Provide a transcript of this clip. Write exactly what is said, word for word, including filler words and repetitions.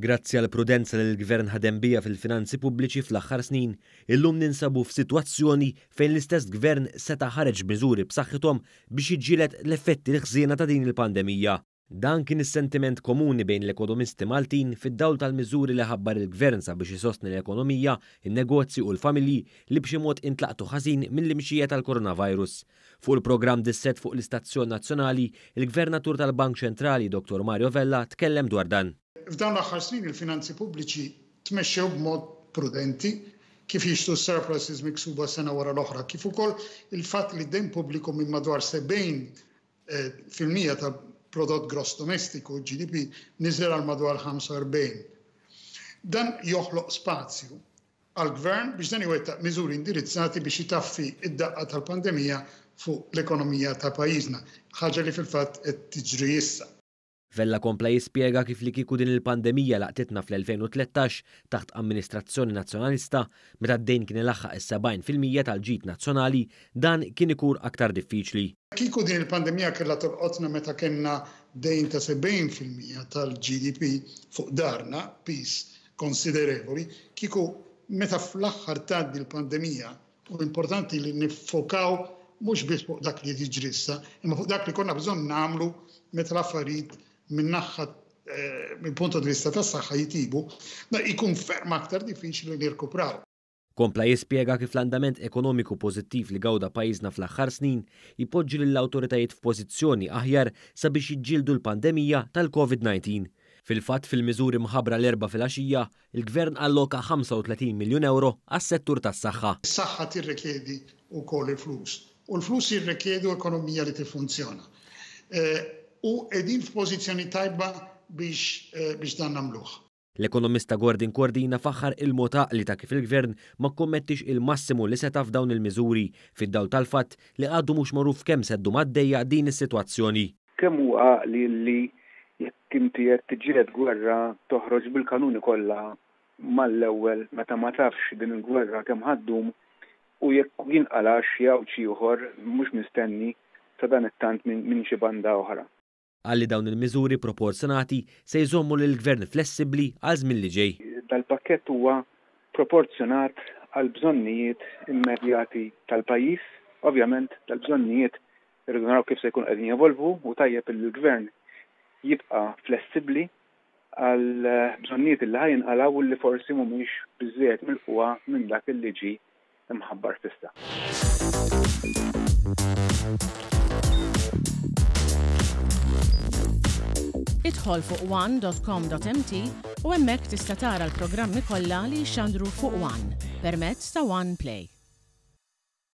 Grazzi għall-prudenza li l-Gvern ħadem biha fil-finanzi pubbliċi fl-aħħar snin, illum ninsabu f'sitwazzjoni fejn l-istess Gvern seta' ħareġ miżuri b'saħħithom biex jiġġieled l-effetti l-ħżiena ta' din il-pandemija. Dan kien is-sentiment komuni bejn l-ekonomisti Maltin fid-dawl tal-miżuri li ħabbar il-Gvern sabiex isostni l-ekonomija, in-negozji u l-familji li b'xi mod intlaqtu ħażin mill-imxija tal-coronavirus. Fuq il-programm Dissett fuq l-Istazzjon Nazzjonali, il-Gvernatur tal-Bank Ċentrali Dottor Mario Vella tkellem dwar dan. F'dawn l-aħħar snin il-finanzi pubbliċi tmexxew b'mod prudenti, kif jixtu surpluses miksuba sena wara l-oħra, kif ukoll il-fatt li d-dejn pubbliku minn madwar sebgħin fil-mija ta' prodott gross domestiku, G D P, niżel għal madwar ħamsa u erbgħin. Dan joħloq spazju għall-gvern biex dan iwettaq miżuri indirizzati biex itaffi id-daqqa tal-pandemija fuq l-ekonomija ta' pajjiżna, ħaġa li fil-fatt qed tiġri issa. Vella kompla jispjega kif li kieku din il-pandemija laqtitna fl-elfejn u tlettax taħt amministrazzjoni nazzjonalista, meta d-dejn kien ilaħħaq is-sebgħin fil-mija tal-ġid nazzjonali, dan kien ikun aktar diffiċli. Kieku din il-pandemija kellha tolqotna meta kellna dejn ta' sebgħin fil-mija tal-G D P fuq darna, pis konsiderevoli, kieku meta fl-aħħar tgħaddi l-pandemija, u importanti li nifokaw mhux biss fuq dak li jiġri issa, imma fuq dak li konna bżonn nagħmlu meta l-affarijiet min-naħa, eh, mill-punt di vista tas-saħħa jitibu, da jkun ferm aktar diffiċli li nirkupraw. Kompla jispjega kif l-andament ekonomiku pożittiv li gawda pajjiżna fl-aħħar snin jpoġġi lill-awtoritajiet f'pożizzjoni aħjar sabiex jiġġieldu l-pandemija tal-Covid nineteen. Fil-fatt, fil-miżuri mħabbra l-Erbgħa filgħaxija, il-Gvern alloka ħamsa u tletin miljun euro għas-settur tas-saħħa. Is-saħħa tirrikjedi wkoll il-flus, u l-flus jirrikjedu ekonomija li tiffunzjona. Eh, u qegħdin f'pożizzjoni tajba biex, eh, biex dan nagħmluh. L-ekonomista Gordon Cordina faħħar il-mod għaqli ta' kif il-Gvern ma kkommettix il-massimu li seta' f'dawn il-miżuri fid-dawl tal-fatt li għadu mhux magħruf kemm se ddum għaddejja din is-sitwazzjoni. Kemm hu għaqli li jekk inti qed tiġġieled gwerra toħroġ bil-kanuni kollha mal-ewwel meta ma tafx din il-gwerra kemm ħaddum u jekk jinqalax xi għawġ ieħor mhux mistenni sa dan it-tant minn, minn xi banda oħra. Qal li dawn il-miżuri proporzjonati se jżommu lill-Gvern flessibbli għal żmien li ġej. Dal-pakkett huwa proporzjonat għal bżonnijiet immedjati tal-pajjiż. Ovvjament dal-bżonnijiet irridu naraw kif se jkunu qegħdin jevolvu u tajjeb li l-Gvern jibqa' flessibbli għal bżonnijiet li ħajinqalgħu u li forsi mhumiex biżżejjed milquha minn dak li ġie imħabbar s'issa. Idħol fuq one dot com dot M T u hemmhekk tista' tara l-programmi kollha li jixxandru fuq One permezz ta' One Play.